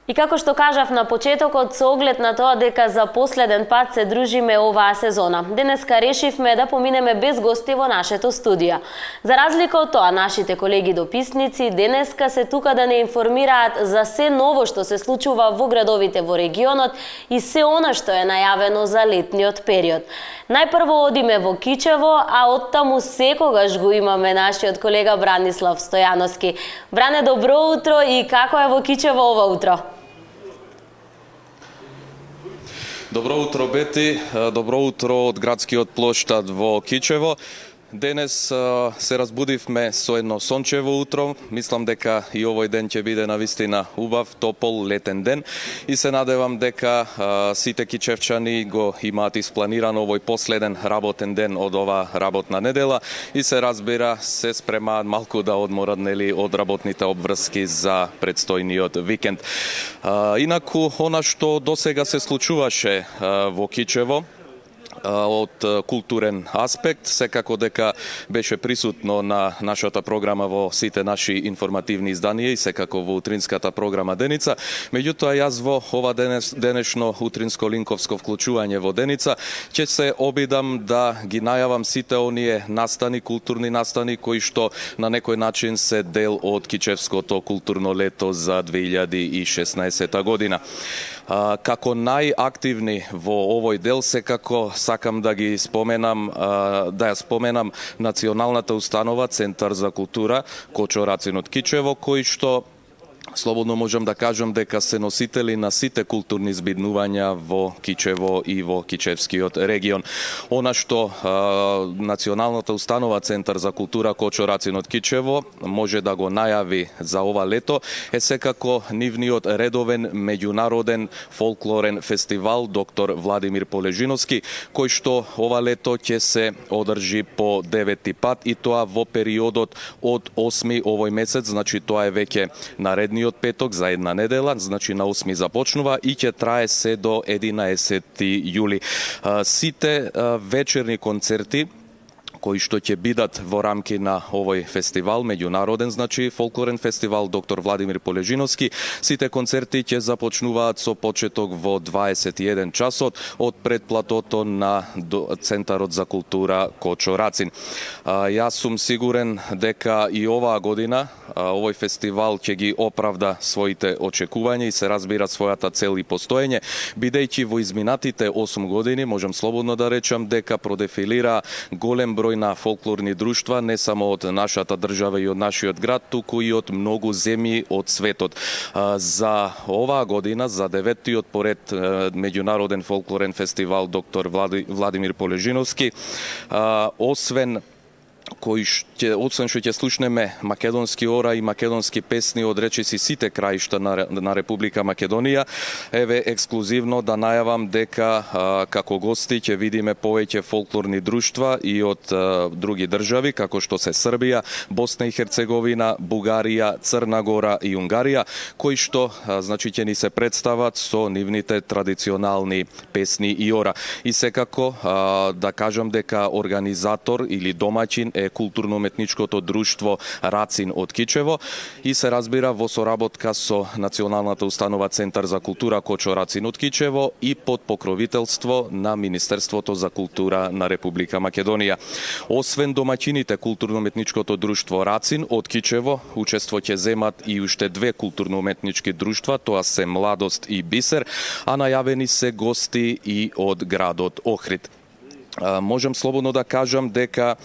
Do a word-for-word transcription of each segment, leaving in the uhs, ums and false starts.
И како што кажав на почетокот, со оглед на тоа дека за последен пат се дружиме оваа сезона, денеска решивме да поминеме без гости во нашето студија. За разлика од тоа, нашите колеги дописници денеска се тука да не информираат за се ново што се случува во градовите во регионот и се она што е најавено за летниот период. Најпрво одиме во Кичево, а оттаму секогаш го имаме нашиот колега Бранислав Стојановски. Бране, добро утро и како е во Кичево ова утро? Добро утро, Бети. Добро утро од градскиот плоштад во Кичево. Денес се разбудивме со едно сончево утро. Мислам дека и овој ден ќе биде навистина убав, топол, летен ден. И се надевам дека сите кичевчани го имаат испланирано овој последен работен ден од оваа работна недела и се разбира се спремаат малку да одморат, нели, од работните обврски за предстојниот викенд. Инаку, она што досега се случуваше во Кичево од културен аспект, секако дека беше присутно на нашата програма во сите наши информативни изданија и секако во утринската програма Деница. Меѓутоа, јас во ова денес, денешно утринско линковско вклучување во Деница ќе се обидам да ги најавам сите оние настани, културни настани кои што на некој начин се дел од Кичевското културно лето за две илјади и шеснаесетта година. Како најактивни во овој дел секако сакам да ги споменам, да ја споменам Националната установа Центар за култура Кочо Рацин од Кичево, кои што слободно можам да кажам дека се носители на сите културни збиднувања во Кичево и во Кичевскиот регион. Она што а, Националната установа Центар за култура Кочо Рацин од Кичево може да го најави за ова лето е секако нивниот редовен меѓународен фолклорен фестивал Доктор Владимир Полежиновски, кој што ова лето ќе се одржи по деветти пат и тоа во периодот од осми овој месец, значи тоа е веќе наредниот петок за една недела, значи на осми започнува и ќе трае се до единаесетти јули. Сите вечерни концерти кои што ќе бидат во рамки на овој фестивал, меѓународен, значи фолклорен фестивал Доктор Владимир Полежиновски, сите концерти ќе започнуваат со почеток во дваесет и еден часот од предплатото на Центарот за култура Кочо Рацин. Јас сум сигурен дека и оваа година овој фестивал ќе ги оправда своите очекувања и се разбира својата цел и постоење, бидејќи во изминатите осум години можам слободно да речам дека продефилира голем број на фолклорни друштва не само од нашата држава и од нашиот град, туку и од многу земји од светот. За оваа година, за деветтиот поред меѓународен фолклорен фестивал Доктор Владимир Полежиновски, освен кои ќе, освен што ќе слушнеме македонски ора и македонски песни од речиси сите краишта на, на Република Македонија, еве ексклузивно да најавам дека а, како гости ќе видиме повеќе фолклорни друштва и од а, други држави, како што се Србија, Босна и Херцеговина, Бугарија, Црна Гора и Унгарија, кои што а, значи ќе ни се представат со нивните традиционални песни и ора. И секако а, да кажам дека организатор или домаќин е културно-уметничкото друштво Рацин од Кичево и се разбира во соработка со Националната установа Центар за култура Кочо Рацин од Кичево и под покровителство на Министерството за култура на Република Македонија. Освен домаќините културно-уметничкото друштво Рацин од Кичево, учество ќе земат и уште две културно-уметнички друштва, тоа се Младост и Бисер, а најавени се гости и од градот Охрид. Можам слободно да кажам дека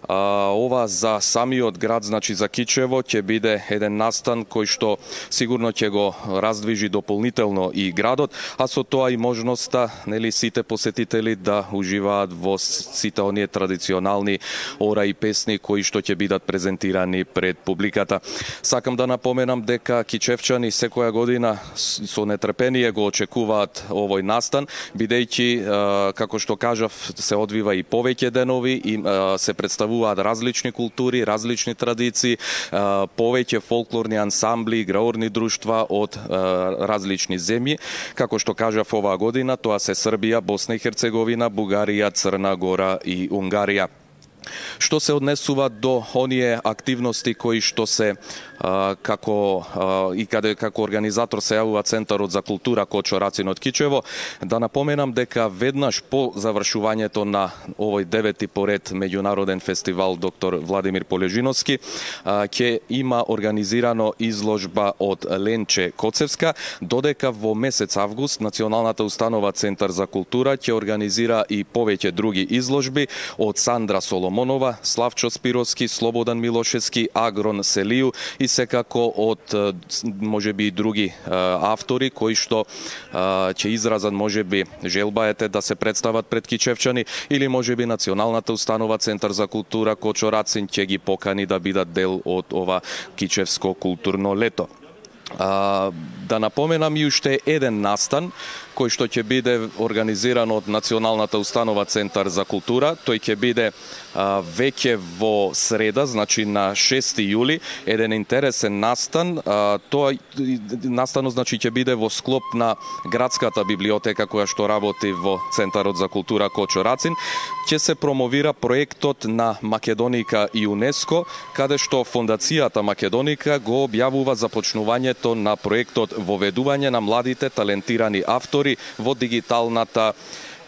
а, ова за самиот град, значи за Кичево, ќе биде еден настан кој што сигурно ќе го раздвижи дополнително и градот, а со тоа и можноста, нели, сите посетители да уживаат во сите оние традиционални ора и песни кои што ќе бидат презентирани пред публиката. Сакам да напоменам дека кичевчани секоја година со нетрпение го очекуваат овој настан, бидејќи, како што кажав, се одвива и повеќе денови и а, се представуваат различни култури, различни традиции, а, повеќе фолклорни ансамбли, играорни друштва од а, различни земји. Како што кажав, оваа година тоа се Србија, Босна и Херцеговина, Бугарија, Црна Гора и Унгарија. Што се однесува до оние активности кои што се како и каде како организатор се јавува Центарот за култура Кочо Рацин од Кичево. Да напоменам дека веднаш по завршувањето на овој девети поред меѓународен фестивал доктор Владимир Полежиновски ќе има организирано изложба од Ленче Коцевска, додека во месец август Националната установа Центар за култура ќе организира и повеќе други изложби од Сандра Соломонова, Славчо Спировски, Слободан Милошевски, Агрон Селију и секако од можеби и други автори кои што ќе изразат можеби желбаете да се представат пред кичевчани или можеби Националната установа Центар за култура Кочо Рацин ќе ги покани да бидат дел од ова кичевско културно лето. А, да напоменам и уште еден настан кој што ќе биде организиран од Националната установа Центар за култура. Тој ќе биде а, веќе во среда, значи на шести јули, еден интересен настан. А, тоа настанот значи ќе биде во склоп на градската библиотека која што работи во Центарот за култура Кочо Рацин. Ќе се промовира проектот на Македоника и ЮНЕСКО, каде што Фондацијата Македоника го објавува започнувањето на проектот Воведување на младите талентирани автори во дигиталната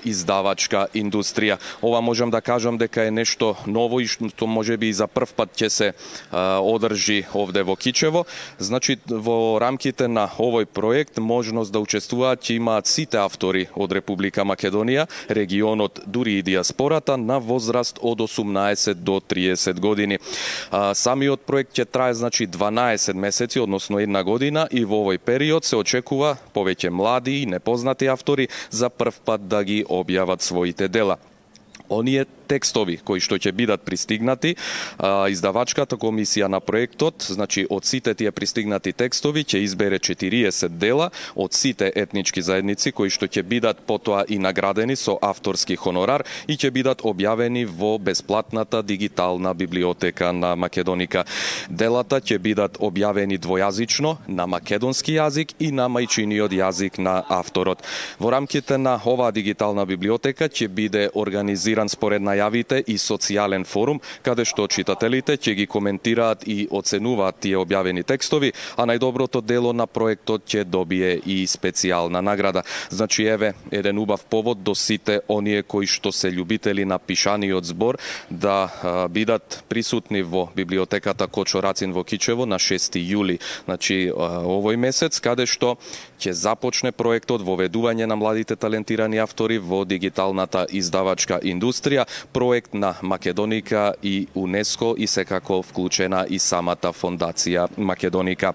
издавачка индустрија. Ова можам да кажам дека е нешто ново и што можеби и за прв пат ќе се а, одржи овде во Кичево. Значи во рамките на овој проект можност да учествуваат ќе имаат сите автори од Република Македонија, регионот, дури и диаспората на возраст од осумнаесет до триесет години. А, самиот проект ќе трае значи дванаесет месеци, односно една година, и во овој период се очекува повеќе млади и непознати автори за прв пат да ги објават своите дела. Оние текстови кои што ќе бидат пристигнати, а, издавачката комисија на проектот, значи од сите тие пристигнати текстови ќе избере четириесет дела од сите етнички заедници кои што ќе бидат потоа и наградени со авторски хонорар и ќе бидат објавени во бесплатната дигитална библиотека на Македоника. Делата ќе бидат објавени двојазично на македонски јазик и на мајчиниот јазик на авторот. Во рамките на оваа дигитална библиотека ќе биде организиран според најавите и социјален форум, каде што читателите ќе ги коментираат и оценуваат тие објавени текстови, а најдоброто дело на проектот ќе добие и специјална награда. Значи еве еден убав повод до сите оние кои што се љубители на пишаниот збор да а, бидат присутни во библиотеката Кочо Рацин во Кичево на шести јули, значи а, овој месец, каде што ќе започне проектот Воведување на младите талентирани автори во дигиталната издавачка индустрија, проект на Македоника и ЮНЕСКО и секако вклучена и самата фондација Македоника.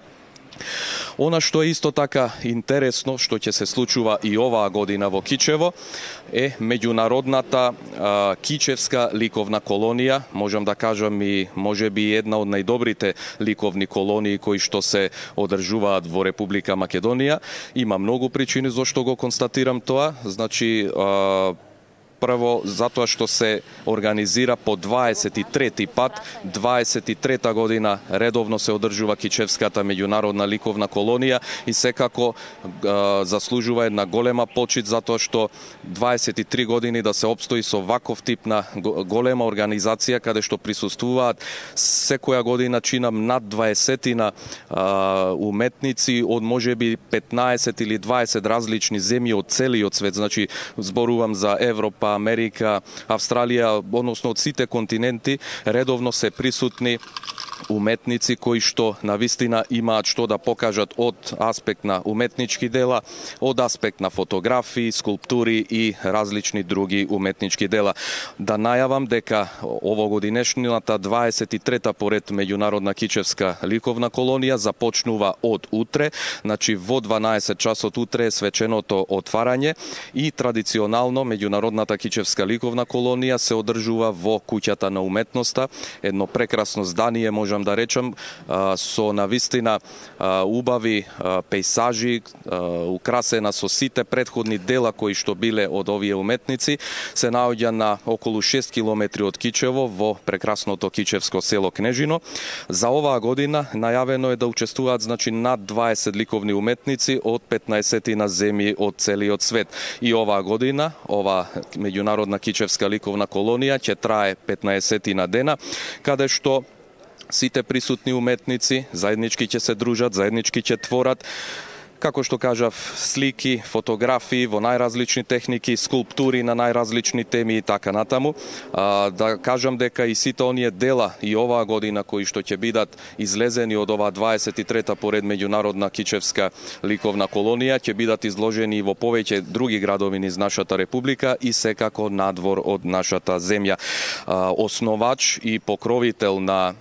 Она што е исто така интересно, што ќе се случува и оваа година во Кичево, е меѓународната а, кичевска ликовна колонија. Можам да кажам и можеби една од најдобрите ликовни колонии кои што се одржуваат во Република Македонија. Има многу причини зашто го констатирам тоа. Значи, а, прво, затоа што се организира по дваесет и трети пат, дваесет и трета година редовно се одржува Кичевската меѓународна ликовна колонија и секако а, заслужува една голема почит затоа што дваесет и три години да се опстои со ваков тип на голема организација каде што присуствуваат секоја година чинам над дваесетина а, уметници од можеби петнаесет или дваесет различни земји од целиот свет. Значи зборувам за Европа, Америка, Австралија, односно од сите континенти, редовно се присутни уметници кои што навистина имаат што да покажат од аспект на уметнички дела, од аспект на фотографии, скулптури и различни други уметнички дела. Да најавам дека овогодинешната дваесет и трета поред меѓународна кичевска ликовна колонија започнува од утре, значи во дванаесет часот утре е свеченото отварање и традиционално меѓународната кичевска ликовна колонија се одржува во куќата на уметноста, едно прекрасно здание, можам да речам, со навистина убави пейсажи, украсена со сите претходни дела кои што биле од овие уметници, се наоѓа на околу шест километри од Кичево во прекрасното кичевско село Кнежино. За оваа година најавено е да учествуваат значи над дваесет ликовни уметници од петнаесетина земји од целиот свет. И оваа година, ова меѓународна кичевска ликовна колонија ќе трае петнаесетина дена, каде што сите присутни уметници заеднички ќе се дружат, заеднички ќе творат, како што кажав, слики, фотографии во најразлични техники, скулптури на најразлични теми и така натаму. А, да кажам дека и сите оние дела и оваа година кои што ќе бидат излезени од оваа дваесет и трета поред меѓународна кичевска ликовна колонија, ќе бидат изложени и во повеќе други градови низ нашата република и секако надвор од нашата земја. А, основач и покровител на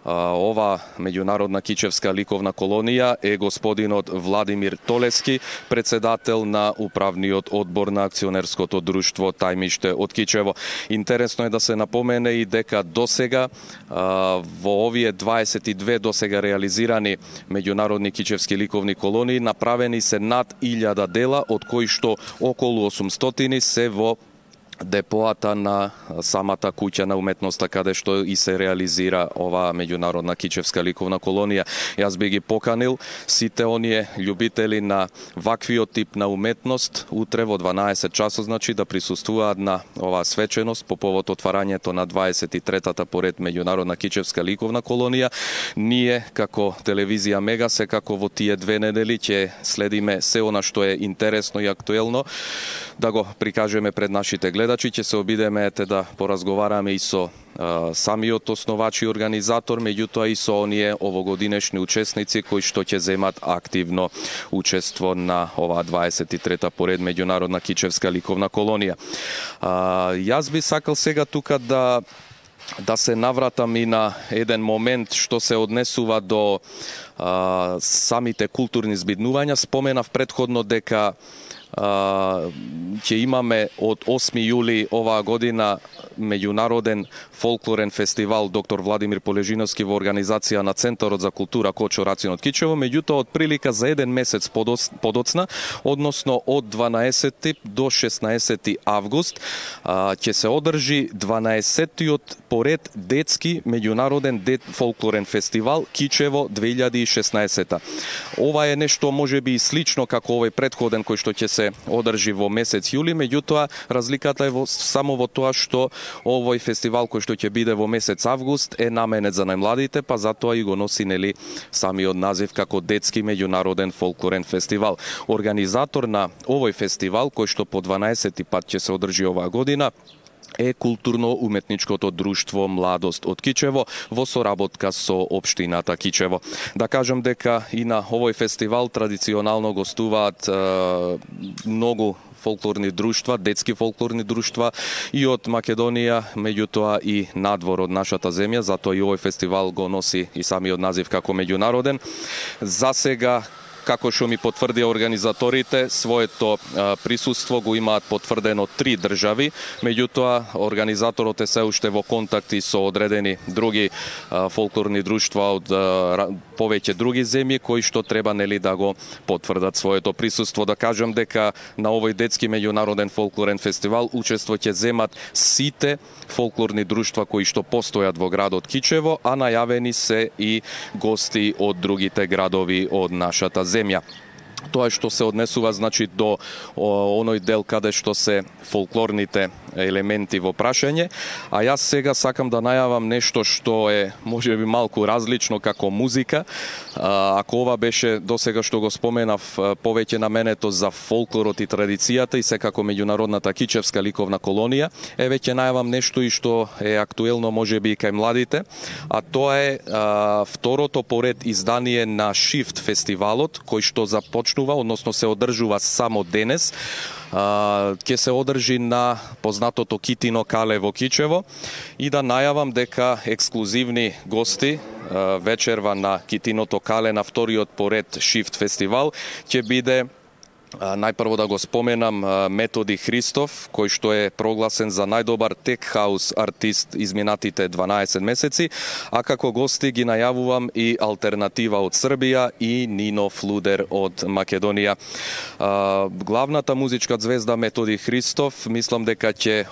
ова меѓународна кичевска ликовна колонија е господинот Владимир Толески, председател на управниот одбор на акционерското друштво Тајмиште од Кичево. Интересно е да се напомене и дека досега во овие дваесет и две досега реализирани меѓународни кичевски ликовни колонии направени се над илјада дела, од кои што околу осумстотини се во депоата на самата куќа на уметноста каде што и се реализира оваа меѓународна кичевска ликовна колонија. Јас би ги поканил сите оние љубители на ваквиот тип на уметност утре во дванаесет часот, значи да присуствуваат на оваа свеченост по повод отварањето на дваесет и третата поред меѓународна кичевска ликовна колонија. Ние како телевизија Мега секако во тие две недели ќе следиме се она што е интересно и актуелно да го прикажеме пред нашите гледачи. Ќе се обидеме ете да поразговараме и со а, самиот основач и организатор, меѓутоа и со оние овогодинешни учесници кои што ќе земат активно учество на оваа дваесет и трета поред меѓународна кичевска ликовна колонија. А, јас би сакал сега тука да да се навратам и на еден момент што се однесува до а, самите културни збиднувања. Споменав претходно дека ќе имаме од осми јули оваа година меѓународен фолклорен фестивал доктор Владимир Полежиновски во организација на Центарот за култура Кочо Рацин од Кичево, меѓутоа од прилика за еден месец подоцна, односно од дванаесети до шеснаесети август, ќе се одржи дванаесеттиот поред детски меѓународен дет фолклорен фестивал Кичево две илјади и шеснаесета. Ова е нешто можеби и слично како овој претходен кој што ќе се одржи во месец јули, меѓутоа разликата е во, само во тоа што овој фестивал кој што ќе биде во месец август е наменет за најмладите, па затоа и го носи нели самиот назив како детски меѓународен фолклорен фестивал. Организатор на овој фестивал кој што по дванаесети пат ќе се одржи оваа година е културно-уметничкото друштво Младост од Кичево во соработка со општината Кичево. Да кажам дека и на овој фестивал традиционално гостуваат е, многу фолклорни друштва, детски фолклорни друштва и од Македонија, меѓутоа и надвор од нашата земја, затоа и овој фестивал го носи и самиот назив како меѓународен. За сега, како што ми потврдија организаторите, своето а, присуство го имаат потврдено три држави, меѓутоа организаторот е се уште во контакти со одредени други а, фолклорни друштва од а, повеќе други земји кои што треба нели да го потврдат своето присуство. Да кажам дека на овој детски меѓународен фолклорен фестивал учество ќе земат сите фолклорни друштва кои што постојат во градот Кичево, а најавени се и гости од другите градови од нашата земја. Тоа што се однесува значи до о, оној дел каде што се фолклорните елементи во прашање, а јас сега сакам да најавам нешто што е можеби малку различно како музика. А, ако ова беше досега што го споменав повеќе наменето за фолклорот и традицијата и секако меѓународната кичевска ликовна колонија, е веќе најавам нешто и што е актуелно можеби и кај младите, а тоа е а, второто поред издание на Шифт фестивалот кој што започнува, односно се одржува само денес. Ќе се одржи на познатото Китино кале во Кичево и да најавам дека ексклузивни гости вечерва на Китиното кале на вториот поред Шифт фестивал ќе биде најпрво да го споменам Методи Христов, кој што е прогласен за најдобар тек хаус артист изминатите дванаесет месеци, а како гости ги најавувам и Алтернатива од Србија и Нино Флудер од Македонија. Главната музичка звезда Методи Христов, мислам дека ќе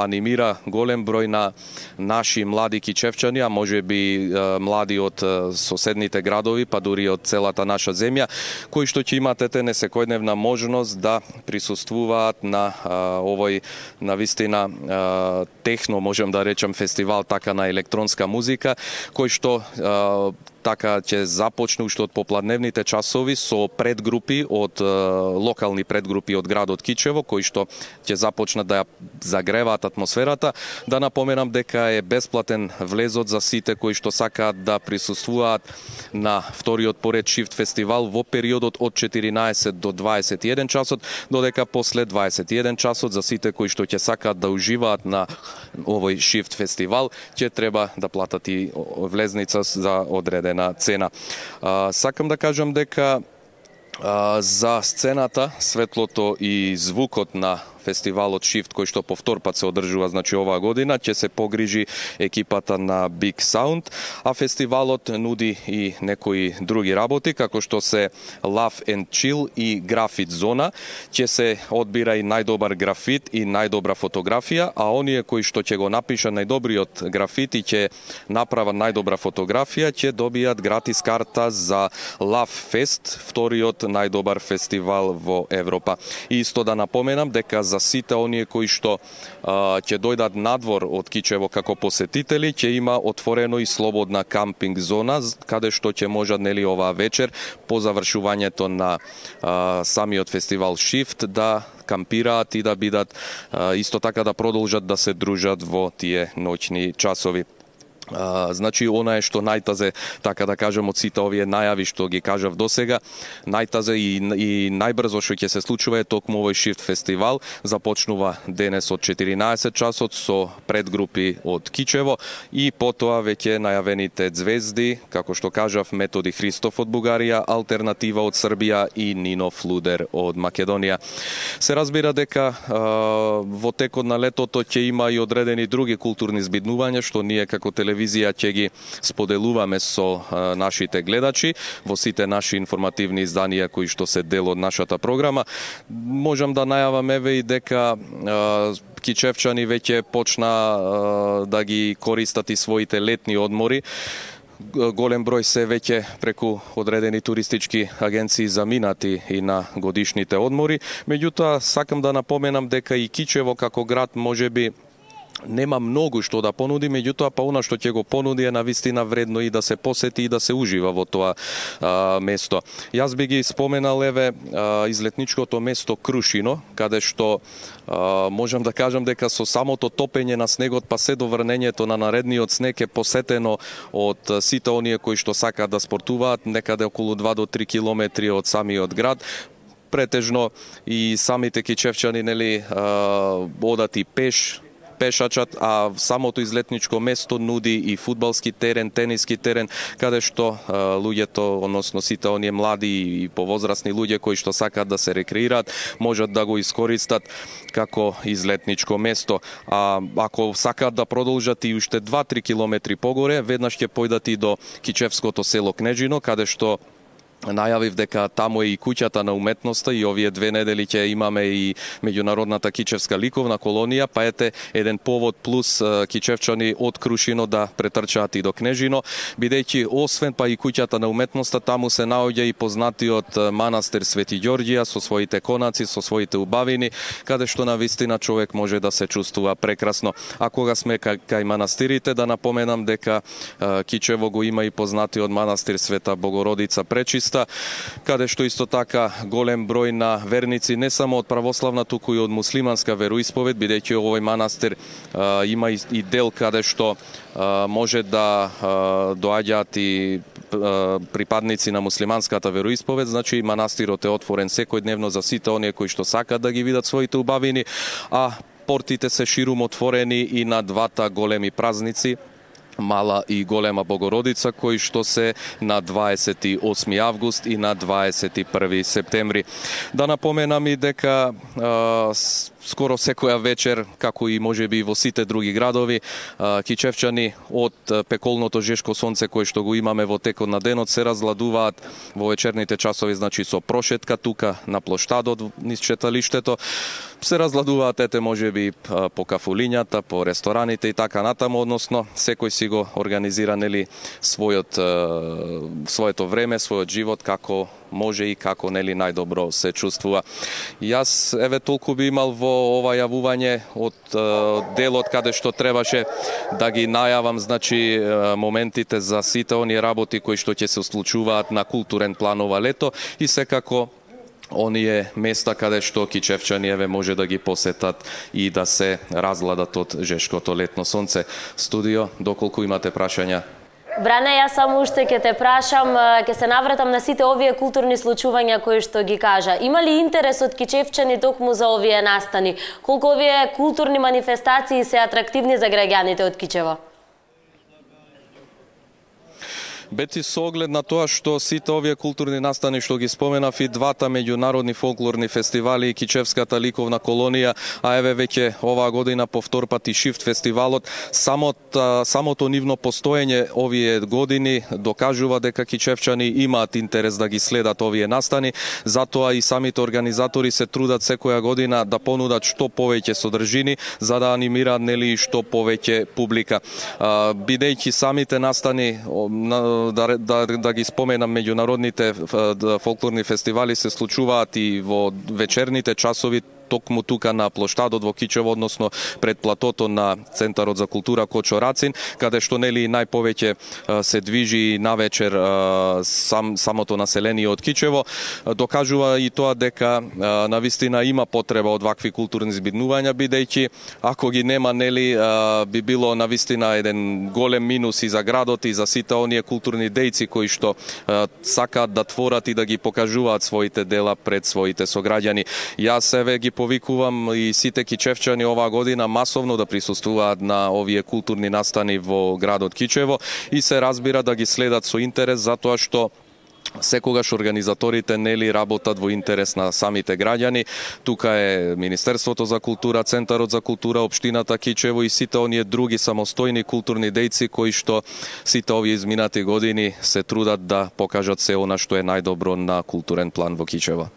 анимира голем број на наши млади кичевчани, а можеби млади од соседните градови, па дури од целата наша земја, кои што ќе имат ете несекој секојдневна можност да присуствуваат на а, овој на вистина а, техно, можем да речем, фестивал така на електронска музика, кој што а, така ќе започне уште од попладневните часови со предгрупи од локални предгрупи од градот Кичево, кои што ќе започнат да ја загреваат атмосферата. Да напоменам дека е бесплатен влезот за сите кои што сакаат да присуствуваат на вториот поред Shift фестивал во периодот од четиринаесет до дваесет и еден часот, додека после дваесет и еден часот за сите кои што ќе сакаат да уживаат на овој Shift фестивал, ќе треба да платат и влезница за одреден на цена. А, сакам да кажам дека а, за сцената, светлото и звукот на фестивалот Shift, кој што по втор пат се одржува, значи оваа година, ќе се погрижи екипата на Big Sound, а фестивалот нуди и некои други работи, како што се Love and Chill и Графит зона. Ќе се одбира и најдобар графит и најдобра фотографија, а оние кои што ќе го напишат најдобриот графит и ќе направат најдобра фотографија, ќе добијат гратис карта за Love Fest, вториот најдобар фестивал во Европа. И исто да напоменам дека за сите оние кои што а, ќе дојдат надвор од Кичево како посетители, ќе има отворено и слободна кампинг зона, каде што ќе можат, нели, оваа вечер по завршувањето на а, самиот фестивал Shift да кампираат и да бидат а, исто така да продолжат да се дружат во тие ноќни часови. Uh, значи, она е што најтазе, така да кажем, од сите овие најави што ги кажав досега, најтазе и, и најбрзо што ќе се случува е токму овој Shift фестивал. Започнува денес од четиринаесет часот со предгрупи од Кичево и потоа веќе најавените звезди, како што кажав, Методи Христов од Бугарија, Алтернатива од Србија и Нино Флудер од Македонија. Се разбира дека uh, во текот на летото ќе има и одредени други културни збиднувања што ние како телевизија телевизија ќе ги споделуваме со а, нашите гледачи во сите наши информативни изданија кои што се дел од нашата програма. Можам да најавам еве и дека а, кичевчани веќе почна а, да ги користат и своите летни одмори. Голем број се веќе преку одредени туристички агенции заминати и на годишните одмори. Меѓутоа, сакам да напоменам дека и Кичево како град можеби нема многу што да понуди, меѓутоа па она што ќе го понуди е навистина вредно и да се посети и да се ужива во тоа а, место. Јас би ги споменал еве а, излетничкото место Крушино, каде што а, можам да кажам дека со самото топење на снегот па се до врнењето на наредниот снег е посетено од сите оние кои што сакаат да спортуваат, некаде околу два до три километри од самиот град. Претежно и самите кичевчани, нели, а, одат и пеш, пешачат, а самото излетничко место нуди и фудбалски терен, тениски терен, каде што а, луѓето, односно сите оние млади и повозрасни луѓе кои што сакаат да се рекреираат, можат да го искористат како излетничко место. А ако сакаат да продолжат и уште два до три километри погоре, веднаш ќе појдат и до кичевското село Кнежино, каде што најавив дека таму е и куќата на уметноста и овие две недели ќе имаме и меѓународната кичевска ликовна колонија, па ете еден повод плюс кичевчани од Крушино да претрчаат и до Кнежино, бидејќи освен па и куќата на уметноста, таму се наоѓа и познатиот манастир Свети Ѓорѓија со своите конаци, со своите убавини, каде што навистина човек може да се чувствува прекрасно. А кога сме кај, кај манастирите, да напоменам дека Кичево го има и познатиот манастир Света Богородица Пречиста, каде што исто така голем број на верници не само од православна, туку и од муслиманска вероисповед, бидејќи овој манастир а, има и, и дел каде што а, може да а, доаѓаат и а, припадници на муслиманската вероисповед, значи манастирот е отворен секојдневно за сите оние кои што сакаат да ги видат своите убавини, а портите се ширум отворени и на двата големи празници, Мала и Голема Богородица, кои што се на дваесет и осми август и на дваесет и први септември. Да напоменам и дека а, скоро секоја вечер, како и можеби во сите други градови, а, кичевчани од пеколното жешко сонце кое што го имаме во текот на денот се разладуваат во вечерните часови, значи со прошетка тука на плоштадот низ читалиштето. Се разладуваат ете можеби по кафулињата, по рестораните и така натаму, односно секој си го организира, нели, својот своето време, својот живот како може и како нели најдобро се чувствува. Јас еве толку би имал во ова јавување од делот каде што требаше да ги најавам, значи моментите за сите оние работи кои што ќе се случуваат на културен план ова лето и секако оние места каде што кичевчани еве може да ги посетат и да се разгладат од жешкото летно сонце. Студио, доколку имате прашања? Бране, јас само уште ќе те прашам, ќе се навратам на сите овие културни случувања кои што ги кажа. Има ли интерес од кичевчани токму за овие настани? Колку овие културни манифестации се атрактивни за граѓаните од Кичево? Бети со оглед на тоа што сите овие културни настани што ги споменав и двата меѓународни фолклорни фестивали и Кичевската ликовна колонија, а еве веќе оваа година повтор пат и Шифт фестивалот, самото, самото нивно постоење овие години докажува дека кичевчани имаат интерес да ги следат овие настани, затоа и самите организатори се трудат секоја година да понудат што повеќе содржини за да анимираат нели што повеќе публика. Бидејќи самите настани Да, да, да ги споменам, меѓународните фолклорни фестивали се случуваат и во вечерните часови токму тука на плоштадот во Кичево, односно пред платото на Центарот за култура Кочо Рацин, каде што нели најповеќе се движи навечер сам, самото население од Кичево. Докажува и тоа дека навистина има потреба од вакви културни збиднувања, бидејќи ако ги нема нели би било навистина еден голем минус и за градот и за сите оние културни дејци кои што сакаат да творат и да ги покажуваат своите дела пред своите сограѓани. Јас еве ги повикувам и сите кичевчани оваа година масовно да присуствуваат на овие културни настани во градот Кичево и се разбира да ги следат со интерес, затоа што секогаш организаторите нели работат во интерес на самите граѓани. Тука е Министерството за култура, Центарот за култура, општината Кичево и сите оние други самостојни културни дејци кои што сите овие изминати години се трудат да покажат се она што е најдобро на културен план во Кичево.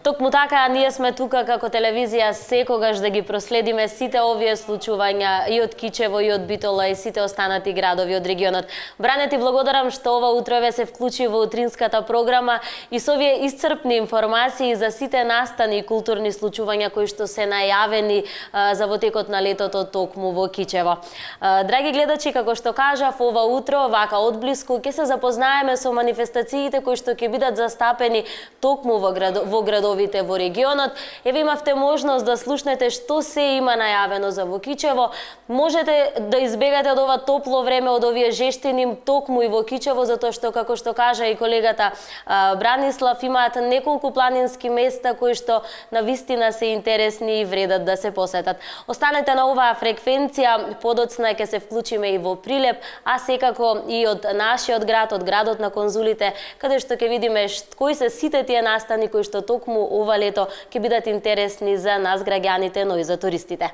Токму така, ние сме тука како телевизија секогаш да ги проследиме сите овие случувања и од Кичево, и од Битола, и сите останати градови од регионот. Бране, ти благодарам што ова утрове се вклучи во утринската програма и со овие исцрпни информации за сите настани и културни случувања кои што се најавени а, за во текот на летото токму во Кичево. А, драги гледачи, како што кажав, ова утро, вака одблиску, ќе се запознаеме со манифестациите кои што ќе бидат застапени токму во, град, во градови во регионот. Еве имавте можност да слушнете што се има најавено за во Кичево. Можете да избегате од ова топло време, од овие жештини токму и во Кичево, затоа што, како што кажа и колегата а, Бранислав, имаат неколку планински места кои што навистина се интересни и вредат да се посетат. Останете на оваа фреквенција, подоцна ќе се вклучиме и во Прилеп, а секако и од нашиот град, од градот на конзулите, каде што ќе видиме кои се сите тие настани кои што токму ова лето ќе бидат интересни за нас граѓаните, но и за туристите.